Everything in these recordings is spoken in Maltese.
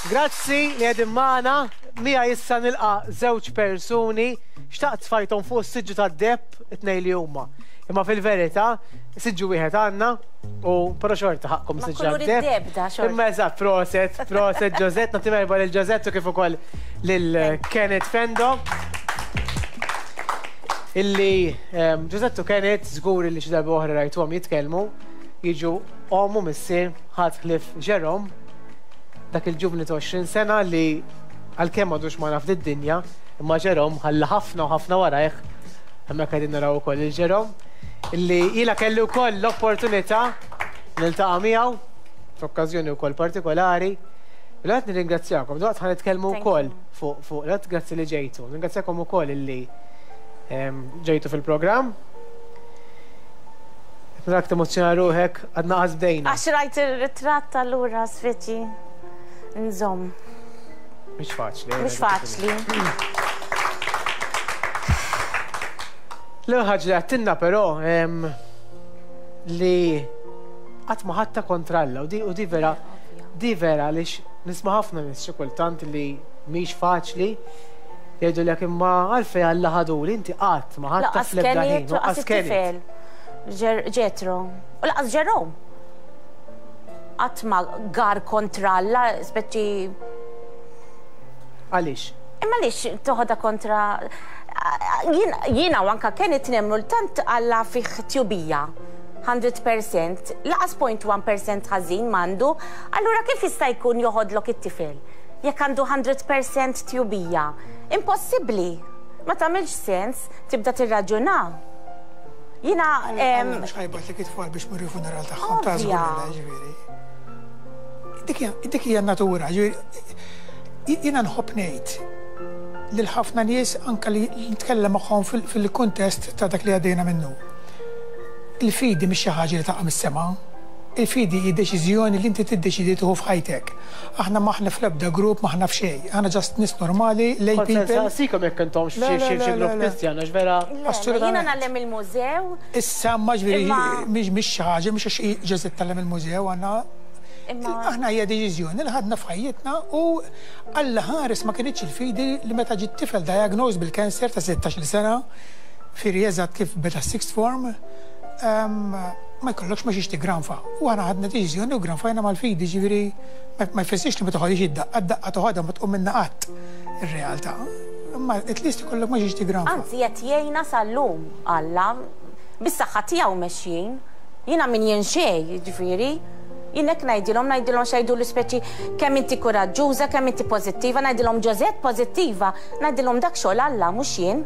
Grazzi li qegħdin magħna. Miegħi issa nilqa' żewġ persuni xtaqt tfajthom fuq is-siġġu tad-deheb it-tnejn li huma. Imma fil-verità, siġġu wieħed għandna u però xorta ħaqqkom Ma siġġu kulur għad-deheb. id-deheb da xorta. Imma eżatt, proset, proset Josette, nagħti merħba lil Josette u kif ukoll lil Kenneth Fendo. Illi Josette u Kenneth żgur illi xi darba oħra rajtuhom jitkellmu, jiġu omm u missier ħadd ħlief Jerome, dak il-ġuvni ta' 20 sena li għalkemm m'għadux magħna f'did-dinja, imma Jerome ħalla ħafna u ħafna warajh, hemmhekk qegħdin naraw ukoll lil Jerome, illi jiena kelli wkoll l-opportunità niltaqa' miegħu f'okkażjoni wkoll partikolari. Mela qed nirringrazzjakom, daqt ħa nitkellmu wkoll fuq fuq l grazzi li ġejtu. Nirringrazzjakom ukoll illi ġejtu fil-programm. Narak temozzjona ruħek, għadna qas bdejna. Għax rajt ir-ritratt allura speċi nżomm. Mhix faċli. Eh, Mhix faċli. L-ewwel ħaġa li għattinna però li qatt ma ħadta kontra Alla u di u di vera di vera għaliex nisma' ħafna nies xi kultant li mhix faċli jgħidulek imma għalfejn Alla ħaduli inti qatt ma ħadta Laqas fl-ebda ħin Kenneth, u laqas laqas Kenneth. it-tifel. Ġetro. U laqas Jerome. Qatt ma gar kontra Alla, speċi. Għaliex? Imma għaliex toħodha kontra jiena u anka Kenneth nemmnu li tant Alla fih tjubija. 100%, laqas 0.1% ħażin m'għandu, allura kif jista' jkun joħodlok it-tifel? Jekk għandu 100% tjubija. Impossibbli. Ma tagħmilx sens, tibda tirraġuna. Jiena. Alla mhux ħa jibgħatlek it-tfal biex tmur il-funeral tagħhom, ta' żgur li le, ġifieri. Dik hija n-natura, ġifieri jiena nħobb ngħid lil ħafna nies anke li nitkellem magħhom fil-kuntest ta' dak li għaddejna minnu. Il-fidi mhix xi ħaġa li taqa' mis-sema. Il-fidi hi deċiżjoni li inti tiddeċiedi tieħu f'ħajtek. Aħna m'aħna fl-ebda grupp, m'aħna f'xejn. Aħna just nies normali, lay Kont se people. nsaqsikom jekk intomx Le, f'xi le, xi le, grupp le, le. Kristjan għax vera. Le, le, jiena Assolutament. ngħallem il-mużew. Issa ma ġifieri Imma. mhix mhix xi ħaġa, mhix għax Ġeżè tgħallem il-mużew għandna. Imma. Aħna hija deċiżjoni li ħadna f'ħajjitna u Alla ħares ma kinitx il-fidi li meta ġie t-tifel diagnosed bil-cancer ta' 16-il sena, fieri eżatt kif beda s-sixth form, ma jkollokx ma xiex tiggranfa. U aħna ħadna deċiżjoni u ggranfajna mal-fidi, ġifieri ma jfissirx li ma toħodhiex id-daqqa, d-daqqa toħodha ma tqum minnha qatt ir-realtà. Imma at least ikollok ma xiex tiggranfa. Anzi qed jgħinna sal-lum Alla, bis-saħħa tiegħu mexjin. Jiena min jien xejn, jiġifieri. Jien hekk ngħidilhom, ngħidilhom x'għiduli speċi kemm inti kuraġġuża, kemm inti pożittiva, ngħidilhom Josette pożittiva, ngħidilhom dak xogħol Alla mhux jien.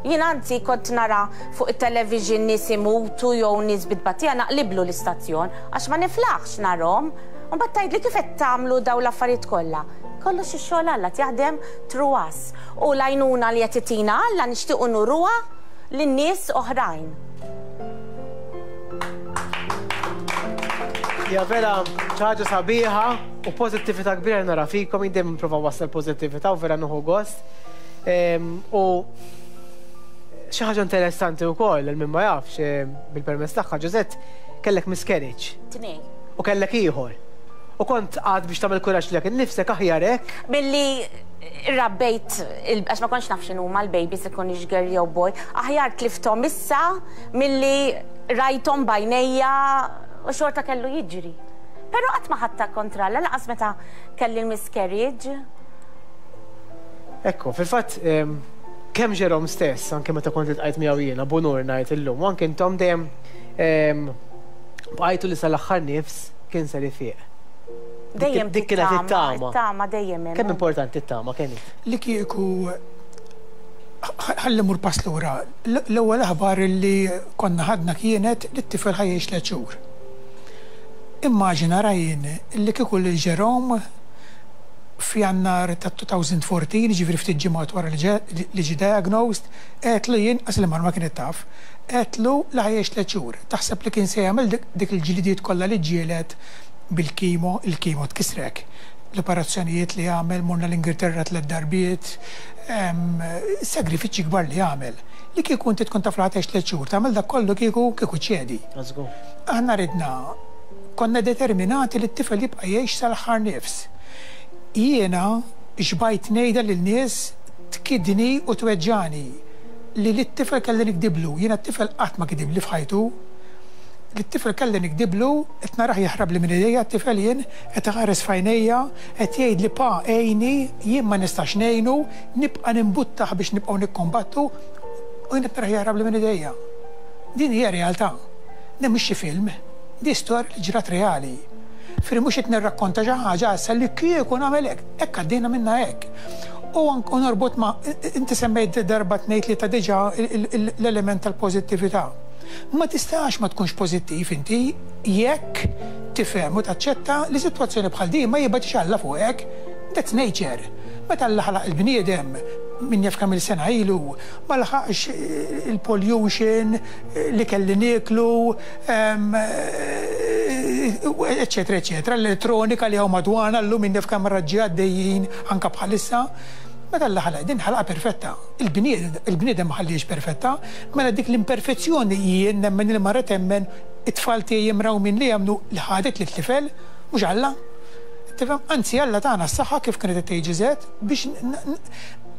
Jien anzi kont nara fuq it-television nies imutu jew nies bi tbatija naqliblu l-istazzjon għax ma niflaħx narhom. U mbagħad tgħidli kif qed tagħmlu dawn l-affarijiet kollha. Kollox ix-xogħol Alla qed jaħdem through us. U l-għajnuna li qed itina Alla nixtiequ nuruha lin-nies oħrajn. Hija vera xi ħaġa sabiħa u pożittività kbira li nara fikom, jien dejjem nipprova nwassal pożittività u vera nieħu gost. U xi ħaġa interessanti wkoll għal min ma jafx, bil-permess tagħha, Josette, kellek miscarriage. Tnejn. U kellek ieħor. U kont qgħadt biex tagħmel kuraġġ lilek innifsek aħjar hekk. Milli rabbejt, għax ma kontx naf x'inhuma l-babies ikunx girl jew boy, aħjar tlifthom issa milli rajthom b'għajnejja u xorta kellu jiġri. Però qatt ma ħadtha kontra Alla, lanqas meta kelli l-miscarriage. Ekku, fil-fatt, kemm Jerome stess, anke meta kont iltqajt miegħu jiena, b'unur ngħid illum, u anke intom dejjem bqajtu li sal-aħħar nifs kien ser ifiq. Dejjem Dik kienet it-tama. It-tama dejjem hemm. Kemm importanti t-tama, Kenny? Li kieku ħalli mmur pass lura. L-ewwel aħbar li konna ħadna kienet li t-tifel ħa jgħix tliet xhur. Immaġina Ryan li kieku lil Jerome f'Jannar tat-2014, jiġifieri ftit ġimgħat wara li ġie diagnosed, għedtlu jien, qas il-mara ma kienet taf, għedtlu li ħa jgħix tliet xhur. Taħseb li kien se jagħmel dik il-ġlidiet kollha li ġġieled bil-chemo, il-chemo tkissrek, l-operazzjonijiet li għamel, morna l-Ingilterra tliet darbiet, sagrifiċċji kbar li għamel. Li kieku inti tkun taf li ħa tgħix tliet xhur, tagħmel dak kollu kieku, kieku ċċedi. Aħna ridna, konna determinati li t-tifel jibqa' jgħix sal-aħħar nifs. Jiena xbajt ngħidha lil nies tkiddni u tweġġagħni li lit-tifel kelli nikdiblu. Jiena t-tifel qatt ma kidibli f'ħajtu. Lit-tifel kelli nikdiblu, qed narah jaħrabli minn idejja t-tifel jien, qed iħares f'għajnejja, qed jgħidli pa għinni, jien ma nistax ngħinu, nibqa' nimbuttah biex nibqgħu nikkombattu u jien qed narah jaħrabli minn idejja. Din hija realtà. Din mhix xi film. Di storja li ġrat reali. Jiġifieri mhux qed nirrakkonta xi ħaġa issa li kieku nagħmel hekk. Hekk għaddejna minnha hekk. U anke u norbot ma' inti semmejt darba tnejn tlieta diġà l-element tal-pożittività. Ma tistax ma tkunx pożittiv inti jekk tifhem u taċċetta li sitwazzjoni bħal din ma jibgħatx Alla fuqek. That's nature. Meta Alla ħalaq il-bniedem, min jaf kemm-il sena ilu, ma laħaqx il-pollution, l-ikel li nieklu, eċċetera eċċetera, l-elettronika li hawn madwarna llum min jaf kemm raġġi għaddejjin anke bħalissa. Meta Alla ħalaq din ħalaqha perfetta. Il-bniedem ma ħallihiex perfetta, mela dik l-imperfezzjoni jien nemmen il-mara temmen, it-tfal tiegħi mrawmin li jemmnu li ħadet lit-tifel, mhux Alla. Tifhem? Anzi Alla tana s-saħħa kif kienet qed tgħid Ġiżett biex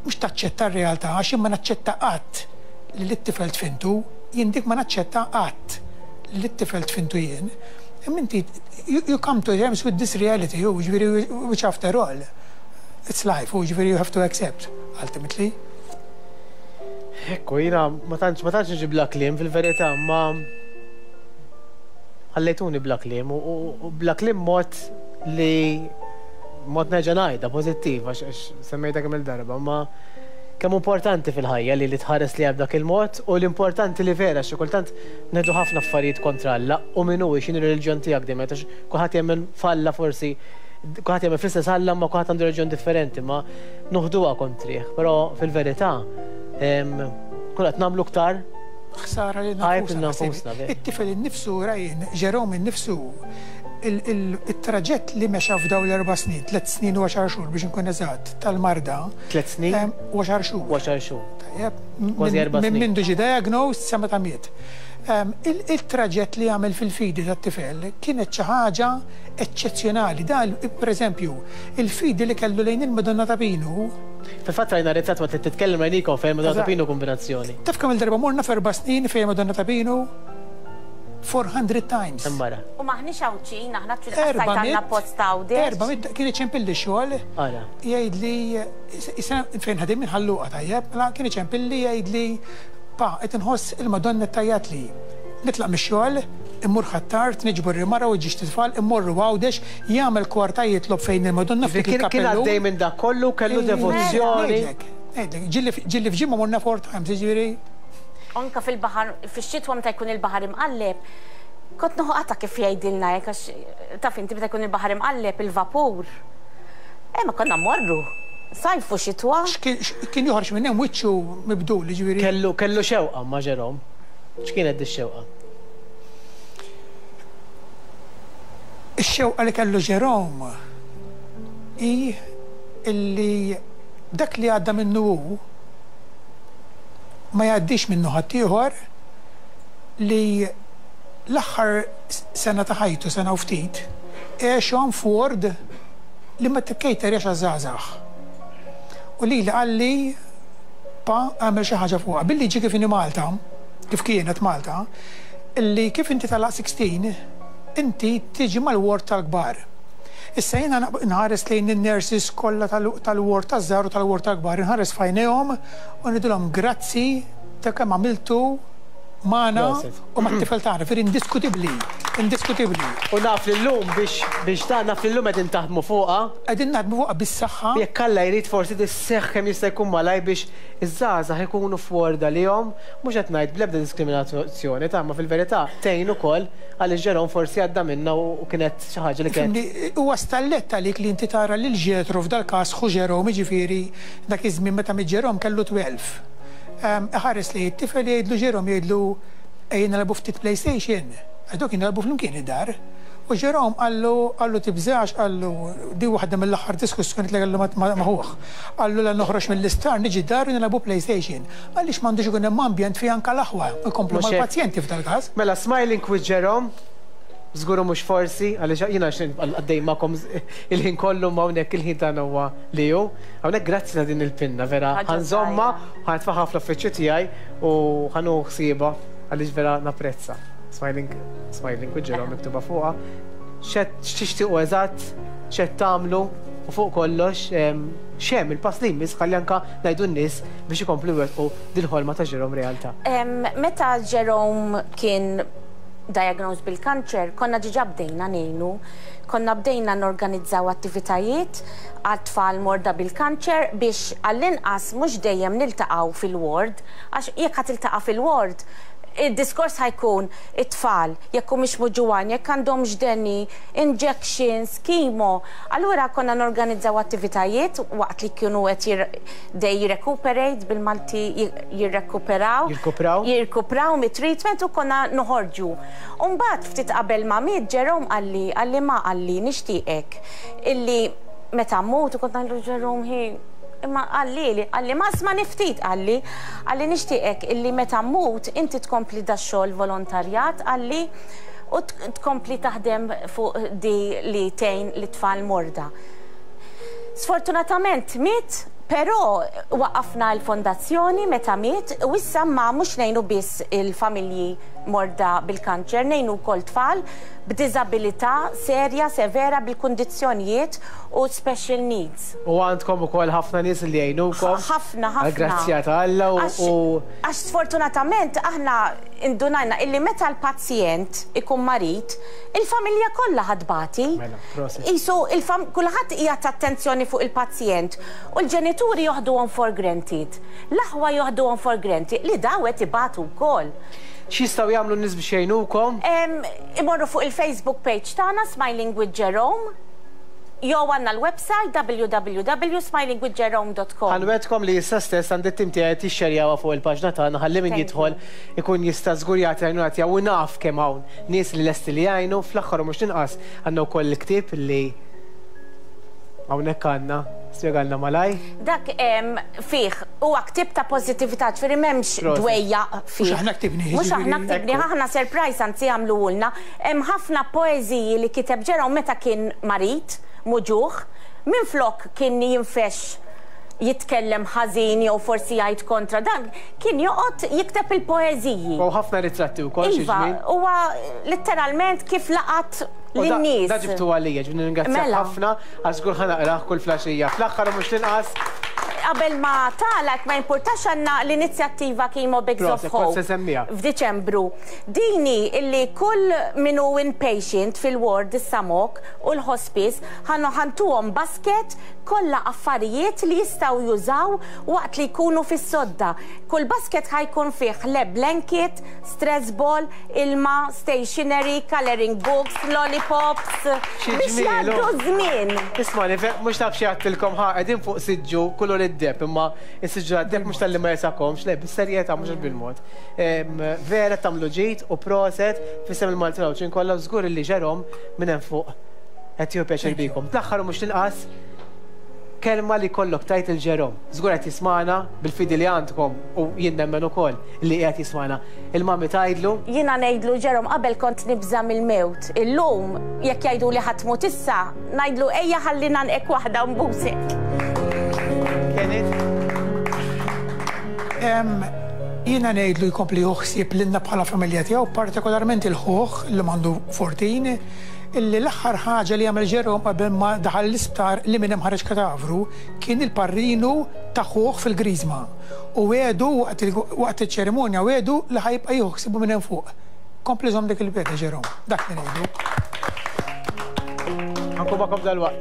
mhux taċċetta r-realtà għax jien ma naċċetta qatt li lit-tifel dfintu, jien dik ma naċċetta qatt li lit-tifel dfintu jien. Imma inti you come to terms with this reality, u ġifieri which after all it's life, u ġifieri you have to accept ultimately. Ekku, jiena ma tantx ma tantx niġi bla kliem fil-verità, ma ħallejtuni bla kliem u bla kliem mod li mod nerġa' ngħidha pożittiv għax semmejtha kemm il-darba, ma kemm importanti fil-ħajja li li tħares li dak il-mod u l-importanti li vera xi kultant ngħidu ħafna affarijiet kontra Alla u min hu x'inhi reliġjon tiegħek dejjem għax kulħadd jemmen f'Alla forsi kulħadd jemmen fl-istess Alla ma kulħadd għandu reliġjon differenti ma noħduha kontrih, però fil-verità kull qed nagħmlu iktar ħsara lil nfusna. It-tifel innifsu Ryan, Jerome innifsu, il-traġett li mexa f'daw l-erba' snin, 3 snin u 10 xhur biex inkun eżatt, tal-marda. 3 snin? U 10 xhur. U 10 xhur. Tajjeb. Kważi 4 snin. Minn mindu ġie diagnosed sa meta miet. Il-traġett li għamel fil-fidi tat-tifel kienet xi ħaġa eċċezzjonali. Da, pereżempju, il-fidi li kellu lejn il-Madonna ta' Pinu. Fil-fatt rajna ritratt waqt li titkellem rajnikom fejn Madonna ta' Pinu kombinazzjoni. Taf kemm il-darba morna f'erba' snin fejn Madonna ta' Pinu? 400 times. Imbara. U m'aħniex Għawdxin, aħna għandna post Għawdex. 400, kien iċempilli xogħol. Ara. Jgħidli, fejn ħadim minn Ħal Luqa tajjeb, mela kien iċempilli jgħidli, pa, qed inħoss il-Madonna tgħajjatli. Nitlaq mix-xogħol, immur Ħ'Attard, niġbor il-mara u ġiex tfal, immorru Għawdex, jagħmel kwarta jitlob fejn il-Madonna f'dik Kien il-kappellu. għaddej minn dak kollu, kellu devozzjoni. Ngħidlek, ngħidlek, ġieli f'ġimgħa morna four times, jiġifieri. Anka fil-baħar, fix-xitwa meta jkun il-baħar imqalleb, kont nieħu qata kif jgħidilna hekk għax taf inti meta jkun il-baħar imqalleb il-vapur. Eh ma konna mmorru. Sajf u xitwa. Kien joħroġ minn hemm wiċċu mibdul, jiġifieri. Kellu kellu xewqa ma' Jerome. X'kienet di xewqa? Ix-xewqa li kellu Jerome hi illi dak li għadda minnu hu ma jgħaddix minnu ħaddieħor li l-aħħar sena ta' ħajtu, sena u ftit, għexhom f'ward li ma tikkejterjax għaż-żgħażagħ. U lili qalli pa għamel xi ħaġa fuqha. Bil-liġi kif inhi Malta, kif kienet Malta, illi kif inti tagħlaq 16, inti tiġi mal-ward tal-kbar. Issa jiena nħares lejn in-nurses kollha tal-ward taż-żgħar u tal-ward tal-kbar, inħares f'għajnejhom u ngħidilhom grazzi ta' kemm għamiltu magħna u mat-tifel tagħna, jiġifieri indiskutibbli, indiskutibbli. U naf li llum biex biex ta' naf li llum qegħdin taħdmu fuqha. Qegħdin naħdmu fuqha bis-saħħa. Jekk Alla jrid forsi tisseħħ kemm jista' jkun malajr biex iż-żgħażagħ ikunu f'ward għalihom, mhux qed ngħid bl-ebda diskriminazzjoni ta' ma fil-verità tgħin ukoll għaliex Jerome forsi għadda minnha u kienet xi ħaġa li kienet. Fhimni, huwa stallett għalik li inti tara lil Ġetro f'dal-każ ħu Jerome, jiġifieri dak iż-żmien meta miet Jerome kellu 12. Iħares lejn it-tifel jgħidlu Jerome jgħidlu ejja nilagħbu ftit PlayStation. Għax dawk kienu jilagħbu flimkien id-dar. U Jerome qallu qallu tibżax qallu di waħda mill-aħħar diskussjonijiet li kellu ma' ħuh. Qallu la noħroġ mill-isptar niġi d-dar u nilagħbu PlayStation. Għaliex m'għandux ikun hemm ambjent fejn anke l-aħwa jkomplu mal-pazjenti f'dal-każ. Mela smiling with Jerome. Żgur u mhux forsi, għaliex jiena għaddej magħkom il-ħin kollu imma hawnhekk il-ħin tagħna huwa li hu. Hawnhekk grazzi ta' din il-pinna vera ħa nżommha u ħa nitfagħha fl-uffiċċju tiegħi u ħa nieħu ħsiebha għaliex vera napprezza. Smiling, smiling with Jerome miktuba fuqha. X'tixtiequ eżatt, x'qed tagħmlu u fuq kollox x'hemm il-pass li jmiss ħalli anke ngħidu n-nies biex ikomplu jwettqu dil-ħolma ta' Jerome realtà. Meta Jerome kien diagnosed bil-kanċer, konna diġà bdejna ngħinu. Konna bdejna norganizzaw attivitajiet għal tfal morda bil-kanċer biex għall-inqas mhux dejjem niltaqgħu fil-ward, għax jekk ħa tiltaqa' fil-ward, id-diskors ħa jkun it-tfal, jekk humiex muġugħin, jekk għandhomx deni, injections, chemo. Allura konna norganizzaw attivitajiet waqt li kienu qed they recuperate bil-Malti jirrekuperaw. Jirkupraw. Jirkupraw mit-treatment u konna noħorġu. U mbagħad ftit qabel ma miet Jerome qalli, qalli ma qalli nixtieqek illi meta mmut u kont ngħidlu Jerome hi imma qalli qalli ma ismagħni ftit qalli, qalli nixtieqek illi meta mmut inti tkompli dax-xogħol volontarjat qalli u tkompli taħdem fuq di li tgħin lit-tfal morda. Sfortunatament miet, però waqqafna l-fondazzjoni meta miet u issa ma mhux ngħinu biss il-familji morda bil-kanċer, ngħinu wkoll tfal b'diżabilità serja, severa bil-kundizzjonijiet u special needs. U għandkom ukoll ħafna nies li jgħinukom. Ħafna, ħafna. Għall-grazzja ta' Alla u. Għax sfortunatament aħna indunajna illi meta l-pazjent ikun marid, il-familja kollha ħa tbati. Mela, prosit. Qisu kulħadd qiegħed attenzjoni fuq il-pazjent u l-ġenituri joħduhom for granted. L-aħwa joħduhom for granted li daw qed ibatu wkoll. X'jistgħu jagħmlu n-nies biex jgħinukom? Imorru fuq il-Facebook page tagħna Smiling with Jerome jew għandna l-website www.smilingwithjerome.com. Ħa nwegħdkom li issa stess għandi t-tim tiegħi qed jixxerjawha fuq il-paġna tagħna ħalli min jidħol ikun jista' żgur jagħti l-għajnuna tiegħu u naf kemm hawn nies li lesti li jgħinu. Fl-aħħar u mhux l-inqas għandna wkoll il-ktieb li hawnhekk għandna, spjegalna malajr. Dak fih huwa ktieb ta' pożittività, ġifieri m'hemmx dwejjaq fih. Mhux aħna ktibnih. Mhux aħna ktibnih, aħna surprise anzi għamluhulna. Hemm ħafna poeżiji li kiteb Jerome meta kien marid, muġugħ. Minflok kien jinfexx jitkellem ħażin jew forsi jgħid kontra dan, kien joqgħod jikteb il-poeżiji. U ħafna ritratti wkoll xi żmien. Iva, huwa litteralment kif laqat lin-nies. Da ġibtu għalija, ġifieri nirringrazzjak ħafna għax żgur ħa naqrah kull flaxija. Fl-aħħar u mhux l-inqas. Qabel ma tagħlaq, ma jimpurtax għandna l-inizjattiva Chemo Bags of Hope f'Diċembru. Din hi illi kull min hu inpatient fil-ward is-Samok u l-hospice ħa ntuhom basket kollha affarijiet li jistgħu jużaw waqt li jkunu fis-sodda. Kull basket ħa jkun fih le blanket, stress ball, ilma, stationery, colouring books, lollipops, biex jgħaddu ż-żmien. Ismagħni, mhux naf xi għedtilkom ħa qegħdin fuq siġġu kulur id-deheb imma s-siġġu tad-deheb mhux talli ma jesagħkomx, le bis-serjetà mhux għax bil-mod. Vera tagħmlu ġid u proset f'isem il-Maltin u l-Għawdxin kollha u żgur illi Jerome minn hemm fuq qed jieħu pjaċir bikom. Fl-aħħar u mhux l-inqas, kelma li jkollok tgħid lil Jerome. Żgur qed jismagħna bil-fidi li għandkom u jien nemmen ukoll li qiegħed jismagħna. Il-mummy tgħidlu. Jiena ngħidlu Jerome qabel kont nibża' mill-mewt. Illum jekk jgħiduli ħa tmut issa, ngħidlu ejja ħalli ngħannqek waħda u nbusek. Kenneth? Jiena ngħidlu jkompli jieħu ħsieb lilna bħala familja tiegħu, partikolarment il-ħuh, illum għandu 14, illi l-aħħar ħaġa li għamel Jerome qabel ma daħal l-isptar li minn hemm ħareġ katavru kien il-parrinu ta' ħuh fil-Griżma u wiegħdu waqt iċ-ċerimonja wiegħdu li ħa jibqa' jieħu ħsiebu minn hemm fuq. Kompli żomm dik il-wegħda Jerome. Dak li ngħidlu. Ħa nkun magħkom dalwaqt.